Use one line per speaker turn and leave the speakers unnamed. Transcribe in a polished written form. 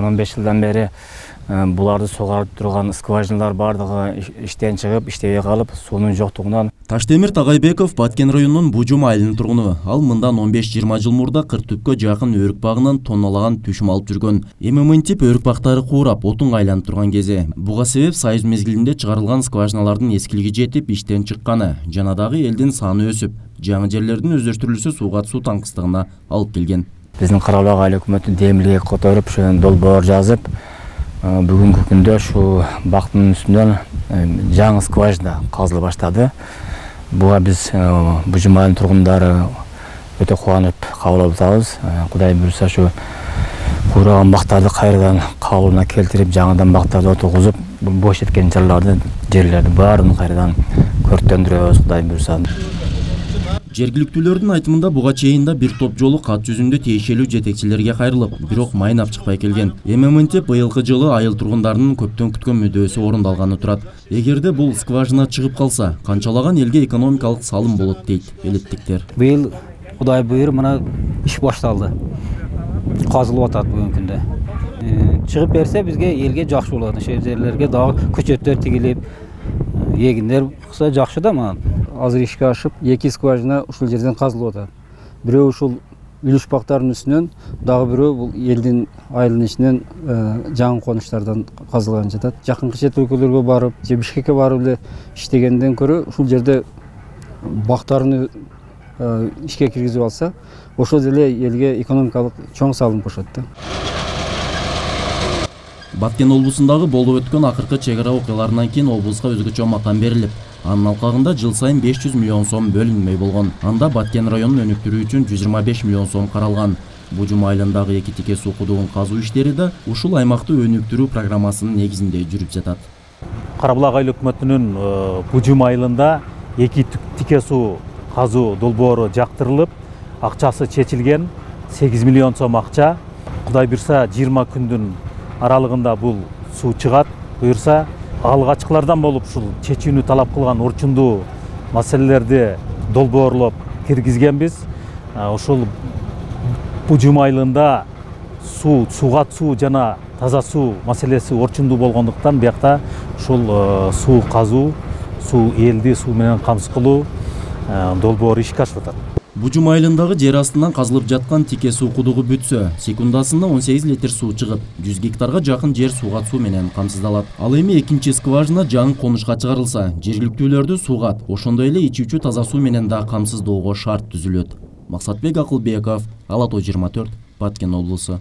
15 жылдан бери буларды сугарып турган скважиналар бардыгы иштен чыгып, иштебей калып, суунун жоктугунан.
Таштемир Тагайбеков Баткен районунун Бужум айылынын тургуну. Ал мындан 15-20 жыл мурда Кыртүпкө жакын өрүк багынан тонналаган түшүм алып жүргөн. Эми мынтип өрүк бактары куурап, отунга айланып турган кези. Буга себеп союз мезгилинде чыгарылган скважиналардын эскилиги жетип, иштен чыкканы, жана дагы элдин саны өсүп, жаңы жерлердин өздөштүрүлүшү сууга суу таңкыстыгына алып келген.
Биздин Карабулак айыл өкмөтү демилге которуп, ошо долбоор жазып, бүгүнкү күндө ушу бактын үстүнөн жаңы скважина казыла баштады. Буга биз Бужум айылынын тургундары өтө кубанып кабыл алып атабыз. Кудай буйрса ушу куураган бактарды кайрадан калыбына келтирип, жаңыдан бактарды отургузуп, бош эткен жерлерди баарын кайрадан көрктөндүрөбүз, Кудай буйрса.
Жергиликтүүлөрдүн айтымында буга чейин да бир топ жолу кат жүзүндө тиешелүү жетекчилерге кайрылып, бирок майнап чыкпай келген. Эми мынтип быйылкы жылы айыл тургундарынын көптөн күткөн мүдөөсү орундалганы турат. Эгерде бул скважина чыгып калса, канчалаган элге экономикалык салым болот дейт элеттиктер.
Быйыл Кудай буйруп мына иш башталды. Казылып атат бүгүнкү күндө. Чыгып берсе бизге элге жакшы болот. Ошол жерлерге дагы көчөттөр тигилип, эгиндер кылса жакшы да мына. Азыр ишке ашып, 2 скважина ушул жерден казылып атат. Бирөө ушул үлүш бактарынын үстүнөн, дагы бирөө бул элдин айылынын ичинен жаңы конуштардан казылган жатат. Жакынкы чет өлкөлөргө барып, же Бишкекке барып эле иштегенден көрө ушул жерде бактарын ишке киргизип алса, ошол эле элге экономикалык чоң салым кошот да.
Баткен облусундагы болуп өткөн акыркы чек ара окуяларынан кийин облуска өзгөчө макам берилип, анын алкагында жыл сайын 500 миллион сом бөлүнмөй болгон. Анда Баткен районун өнүктүрүү үчүн 125 миллион сом каралган. Бужум айылындагы 2 тике суу кудугун казуу иштери да ушул аймакты өнүктүрүү программасынын негизинде жүрүп жатат.
Карабулак айыл өкмөтүнүн Бужум айылында 2 тике суу казуу долбоору жактырылып, акчасы чечилген, 8 миллион сом акча. Кудай буйрса 20 күндүн аралыгында бул суу чыгат. Буйрса алгачкылардан болуп ушул чечүүнү талап кылган орчундуу маселелерди долбоорлоп киргизгенбиз. Ушул Бужум айылында сууга суу жана таза суу маселеси орчундуу болгондуктан биякта ушул суу казуу, суу элди суу менен камсыз кылуу долбоору ишке ашып атат.
Бужум айылындагы жер астынан казылып жаткан тике суу кудугу бүтсө, секундасында 18 литр суу чыгып, 100 гектарга жакын жер сууга суу менен камсыздалат. Ал эми экинчи скважина жаңы конушка чыгарылса, жергиликтүүлөрдү суугат, ошондой эле ичүүчү таза суу менен да камсыздоого шарт түзүлөт. Максатбек Акылбеков, Ала Тоо 24, Баткен облусу.